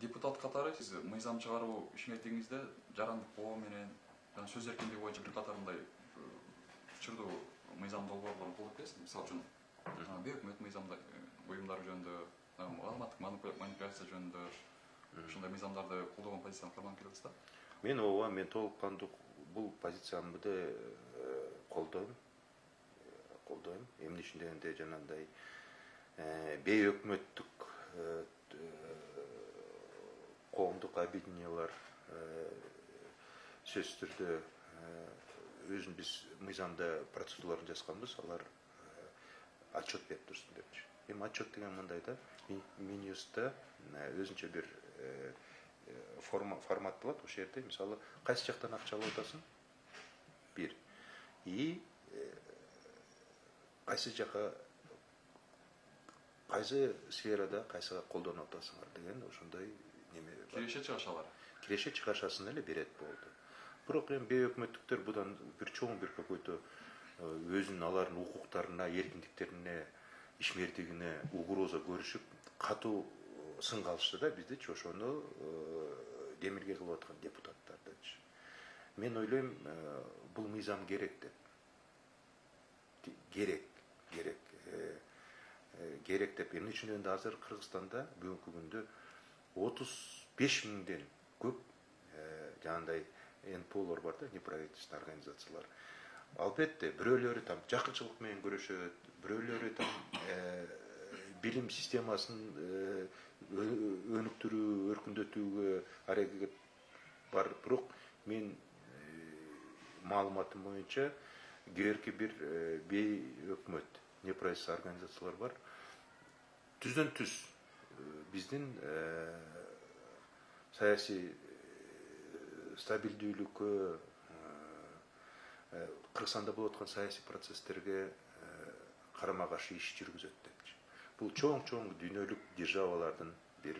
депутат катары сиз мыйзам чыгаруу ишмердигиңизде жарандык коо менен жана сөз эркиндиги боюнча бир катар мындай учурдуу мыйзам долбоорлорун колдоп келесиз. Мисалы үчүн бейөкмөт мыйзамда уюмдар жөнүндө, маалыматтык манипуляция жөнүндө ушундай мыйзамдарды колдогон позицияны карманып келесиз да? Мен толук кандуу бул позициямды колдойм. Эмне үчүн дегенде жанагындай бейөкмөттүк коомдук объединениялар сөзсүз түрдө өзүн биз мыйзамда процедураларын жазганбыз, алар отчет берип турсун депчи. Эми отчет деген мындай да, Минюстта өзүнчө бир формат болот. Ошол жерде мисалы кайсы жактан акча алып атасың? Бир. И кайсы жака, кайсы сферада кайсыга колдонуп атасыңар деген ошондой неме бар. Киреше чыгышалар. Киреше чыгашасын эле берет болду. Бирок эми бейөкмөттүктөр будан бир чоң бир какой-то өзүнүн алардын укуктарына, эркиндиктерине, ишмердигине угроза көрүшүп, катуу сынга алышты да биздичи, ошону демилге кылып аткан депутаттардычы. Мен ойлойм, бул мыйзам керек деп. Керек деп. Эмне үчүн дегенде азыр Кыргызстанда бүгүнкү күндө 35 миңден көп жанагындай НПОлор бар да, неправительственный организациялар. Албетте, бирөөлөрү там жакынчылык менен көрүшөт, бирөөлөрү там билим системасын өнүктүрүү, өркүндөтүүгө аракет бар. Бирок мен маалыматым боюнча кээерки бир бейөкмөт неправительственный организациялар бар. Түздөн түз биздин саясий стабилдүүлүккө, Кыргызстанда болуп аткан саясий процесстерге карама каршы иш жүргүзөт депчи. Бул чоң дүйнөлүк державалардын бир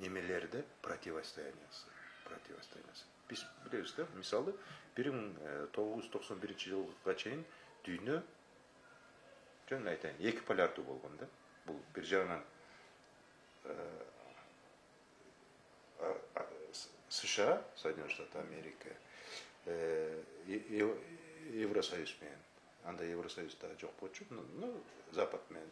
немелерде противостояниясы. Биз билебиз да, мисалы 1991 жылга чейин дүйнө жөн айтайын, эки полярдуу болгон да. Бул бир жагынан США, Соединенные Штаты Америки, Евросоюз менен, анда Евросоюзда жок болчу, Запад менен.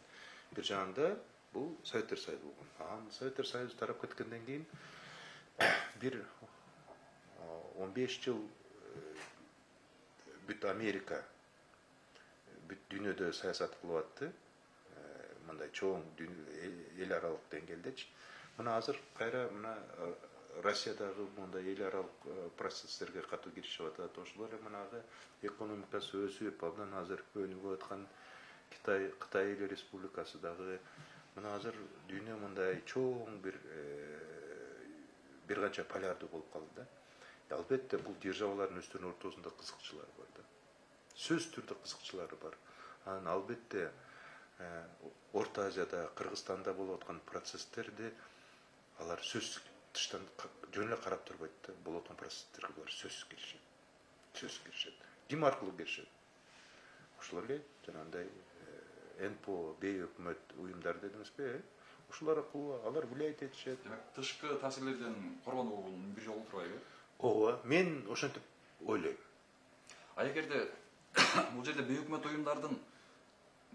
Бир жагында бул Советтер Союзу болгон. Советтер Союзу тарап кеткенден кийин бир 15 жыл бүт Америка бүт дүйнөдө саясат кылып атты. Мындай чоң эл аралык деңгээлдечи. Мына азыр кайра мына Россиядагы мындай эл аралык процесстерге катуу киришип атат. Ошолор манагы экономикасы өсүп, абдан азыр өнүгүп аткан Кытай Эл Республикасы дагы мына азыр дүйнө мындай чоң бир канча полярдуу болуп калды да. Албетте бул державалардын өздөрүнүн ортосунда кызыкчылар бар да. Сөзсүз түрдө кызыкчылары бар. Анан албетте Орто Азияда, Кыргызстанда болуп аткан процесстерди алар сөзсүз тыштан жөн эле карап турбайт да. Болуп аткан процесстерге булар сөзсүз киришет. Ким аркылуу киришет? Ошолор эле жанагындай НПО, бейөкмөт уюмдар дедиңизби? Ушулар аркылуу алар влиять этишет. Демек, тышкы таасирлерден коргонуунун бир жолу турбайбы? Ооба, мен ошентип ойлойм. А эгерде бул жерде бейөкмөт уюмдардын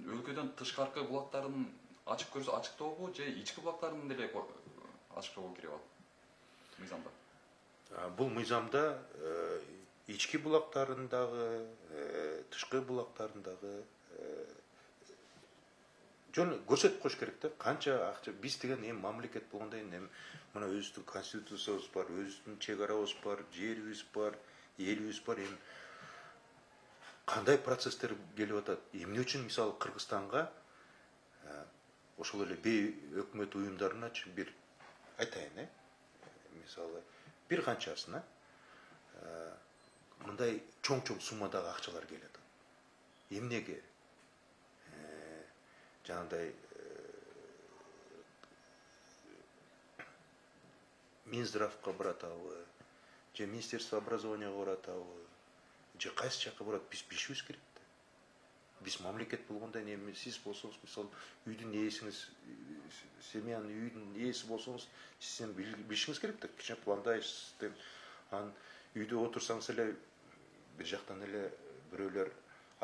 өлкөдөн тышкаркы булактарын ачып көрсө ачыктообу же ички булактарын деле ачыктоого кирип алат мыйзамда? Бул мыйзамда ички булактарын дагы, тышкы булактарын дагы жөн көрсөтүп коюш керек да. Канча акча биз деген эми мамлекет болгондон кийин эми мына өзүбүздүн конституциябыз бар, өзүбүздүн чек арабыз бар, жерибиз бар, элибиз бар. Эми кандай процесстер келип атат? Эмне үчүн мисалы Кыргызстанга ошол эле бейөкмөт уюмдарыначы бир айтайын, мисалы бир канчасына мындай чоң суммадагы акчалар келет. Эмнеге? Жанагындай Минздравга баратабы, же Министерство образованияга баратабы, же кайсы жака барат, биз билишибиз керек да. Биз мамлекет болгондо эми сиз болсоңуз, мисалы, үйдүн ээсиңиз, семьянын үйдүн ээси болсоңуз, сиз билишиңиз керек да, кичине пландайсыз деп. Анан үйдө отурсаңыз эле бир жактан эле бирөөлөр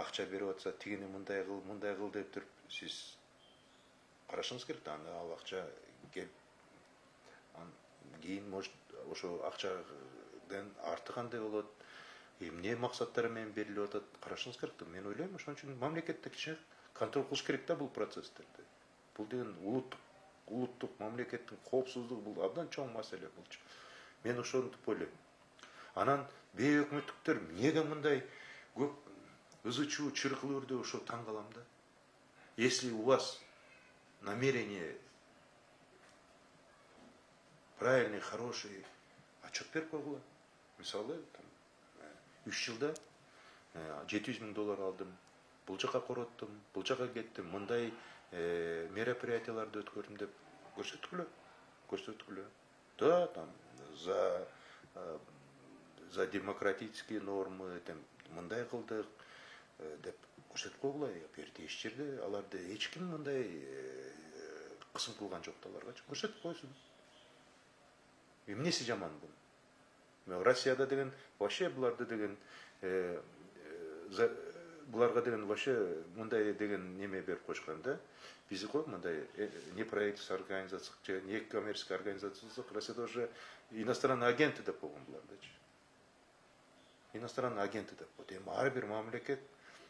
акча берип атса, тигини мындай кыл деп туруп, сиз карашыңыз керек да. Анда ал акча келип, кийин может ошо акчадан арты кандай болот, эмне максаттар менен берилип атат, карашыңыз керек да. Мен ойлойм, ошон үчүн мамлекетте кичине контроль кылыш керек да бул процесстерди. Бул деген улуттук мамлекеттин коопсуздугу, бул абдан чоң маселе булчу. Мен ошентип ойлойм. Анан бейөкмөттүктөр эмнеге мындай көп ызы чуу чыркылып үрдү, ошо таң калам да. Если у вас намерение правильный, хороший, отчет берип койгула. Мисалы, 3 жылда $700,000 алдым, бул жака короттум, бул жака кеттим, мындай мероприятияларды өткөрдүм деп көрсөткүлө. Да, там за демократические нормы, мындай кылдык деп көрсөтүп койгула. Берде эч жерде аларды эч ким мындай кысым кылган жок да аларга. Көрсөтүп койсун. Эмнеси жаман бул? Россияда деген вообще буларды деген буларга деген вообще мындай деген неме берип койшкан да. Бизи кой мындай неправительственный организация, же некоммерческая организация, Россияда уже иностранный агенты деп койгон булардычы. Иностранный агенты деп койду. Эми ар бир мамлекет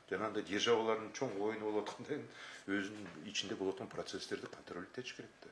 жанагындай державалардын чоң оюну болуп атканда өзүнүн ичинде болуп аткан процесстерди контроль этиш керек да.